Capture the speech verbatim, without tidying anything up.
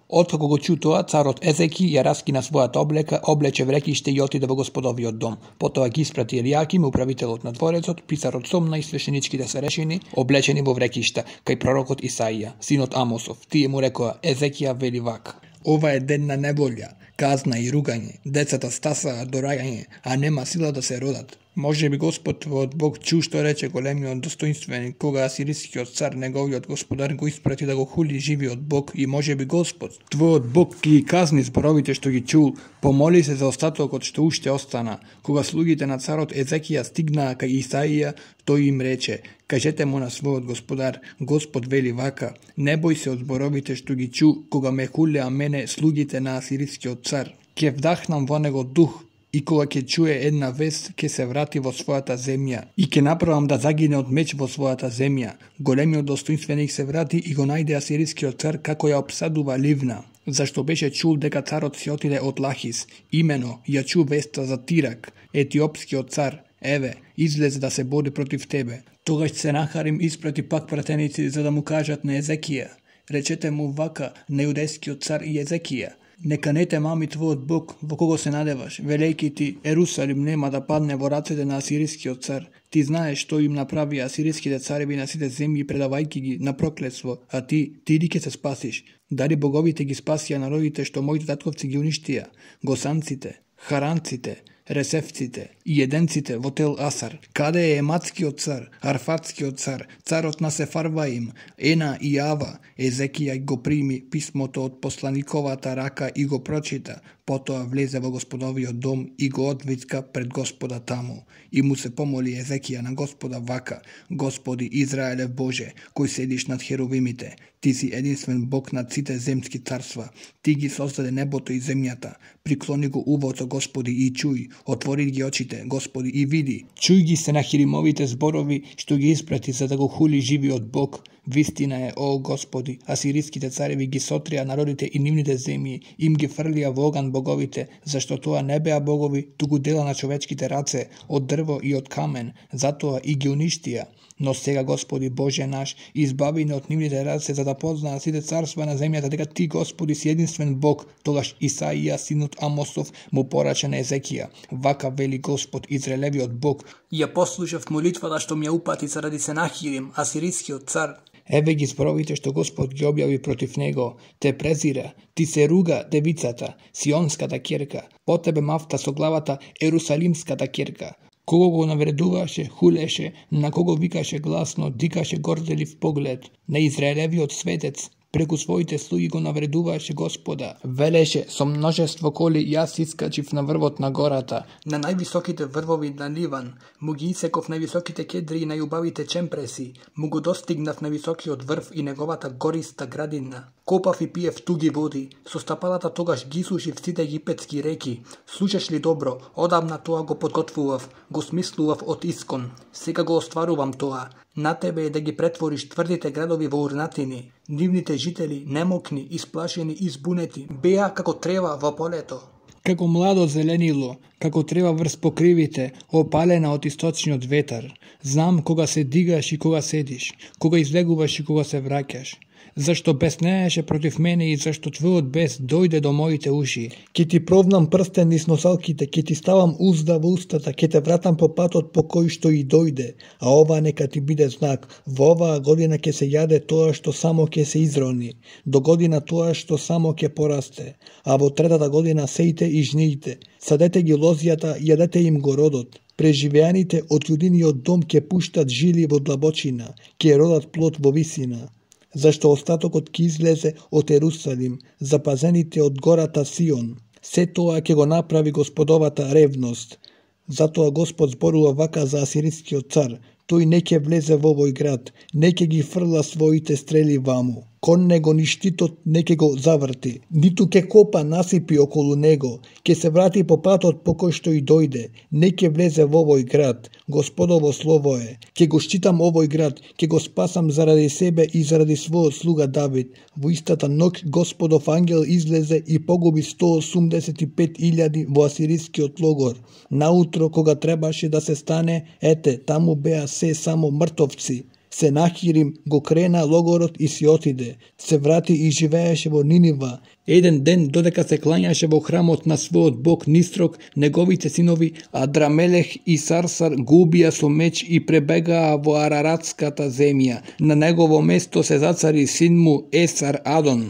Откако го чу тоа, царот Езеки ја раскина својата облека, облече врекиште и отиде во господовиот дом. Потоа ги испрати Елијаким, управителот на дворецот, писарот Сомна и свешеничките старешини, облечени во врекишта, кај пророкот Исаија, синот Амосов. Тие му рекоа: Езекија вели вака: ова е ден на неволја, казна и ругање, децата стасаат до раѓање, а нема сила да се родат. Може би Господ твојот Бог чу што рече големиот достоинственик, кога асирискиот цар, неговиот господар, го испрати да го хули живиот Бог, и може би Господ твојот Бог ги казни зборовите што ги чул. Помоли се за остатокот што уште остана. Кога слугите на царот Езекија стигнаа кај Исаија, тој им рече: кажете му на својот господар, Господ вели вака: не бој се од зборовите што ги чу, кога ме хулеа мене слугите на асирискиот цар. Ќе вдахнам во него дух, и кога ќе чуе една вест, ќе се врати во својата земја и ќе направам да загине од меч во својата земја. Големиот достоинственик се врати и го најде асирискиот цар како ја обсадува Ливна, зашто беше чул дека царот си отиде од Лахис. Имено ја чу веста за Тирак, етиопскиот цар: еве, излезе да се бори против тебе. Тогаш Сенахарим испрати пак пратеници за да му кажат на Езекија: речете му вака на јудејскиот цар и Езекија: нека не те мами твојот Бог во кого се надеваш, велејки ти: Ерусалим нема да падне во рацете на асирискиот цар. Ти знаеш што им направи асириските цареви на сите земји, предавајки ги на проклетство, а ти, ти ли ќе се спасиш? Дали боговите ги спасија народите што моите татковци ги уништија? Госанците, харанците, ресевците и еденците во Тел Асар. Каде е ематскиот цар, арфатскиот цар, царот на Сефарваим, Ена и Ава? Езекија го прими писмото од посланиковата рака и го прочита. Потоа влезе во господовиот дом и го одвицка пред Господа таму. И му се помоли Езекија на Господа вака: Господи Израелев Боже, кој седиш над херувимите, ти си единствен Бог над сите земски царства. Ти ги создаде небото и земјата. Приклони го увото, Господи, и чуј. Отвори ги очите, Господи, и види. Чуј ги Сенахиримовите зборови што ги испрати за да го хули живиот Бог. Вистина е, о Господи, асириските цареви ги сотрија народите и нивните земји, им ги фрлија во оган боговите, зашто тоа не беа богови, туку дела на човечките раце, од дрво и од камен, затоа и ги уништија. Но сега, Господи Боже наш, избави не од нивните раце, за да познаат сите царства на земјата дека Ти, Господи, си единствен Бог. Тогаш Исаија, синот Амосов, му порача на Езекија: вака вели Господ, Израелевиот Бог: ја послушав молитвата што ми ја упати заради Сенахирим, асирискиот цар. Еве ги зборовите што Господ ги објави против него. Те презира, ти се руга девицата, сионската ќерка, по тебе мафта со главата ерусалимската ќерка. Кого го навредуваше, хулеше, на кого викаше гласно, дикаше горделив поглед. На Израелевиот светец преку своите слуги го навредуваше Господа. Велеше: со множество коли јас искачив на врвот на гората, на највисоките врвови на Ливан, му ги исеков највисоките кедри и најубавите чемпреси, му го достигнав на високиот врв и неговата гориста градина. Копав и пиев туги води, со стапалата тогаш ги сушив сите египетски реки. Слушаш ли добро, одамна тоа го подготвував, го смислував од искон. Сега го остварувам тоа. На тебе е да ги претвориш тврдите градови во урнатини. Нивните жители, немокни, исплашени и збунети, беа како трева во полето. Како младо зеленило, како трева врз покривите, опалена од источниот ветар. Знам кога се дигаш и кога седиш, кога излегуваш и кога се враќаш. Зашто беснееше против мене и зашто твојот бес дојде до моите уши. Ке ти провнам прстен низ носалките, ке ти ставам узда во устата, ке те вратам по патот по кој што и дојде. А ова нека ти биде знак. Во оваа година ќе се јаде тоа што само ќе се изрони, до година тоа што само ќе порасте, а во третата година сејте и жниите. Садете ги лозјата, јадете им го родот. Преживеаните од јудиниот дом ќе пуштат жили во длабочина, ќе родат плод во висина. Зашто остатокот ќе излезе од Ерусалим, запазените од гората Сион. Се тоа ќе го направи Господовата ревност. Затоа Господ зборува вака за асирискиот цар: тој не ќе влезе во овој град, не ќе ги фрла своите стрели ваму. Кон него ни штитот не ќе го заврти, ниту ќе копа насипи околу него, ќе се врати по патот по кој што и дојде, не ќе влезе во овој град. Господово слово е: ќе го штитам овој град, ќе го спасам заради себе и заради својот слуга Давид. Во истата ноќ Господов ангел излезе и погуби сто осумдесет и пет илјади во асирискиот логор. Наутро кога требаше да се стане, ете, таму беа се само мртовци. Сенахирим го крена логорот и си отиде. Се врати и живееше во Нинива. Еден ден, додека се клањаше во храмот на својот бог Нисрок, неговите синови Адрамелех и Сарсар го убија со меч и пребегаа во Араратската земја. На негово место се зацари син му Есар Адон.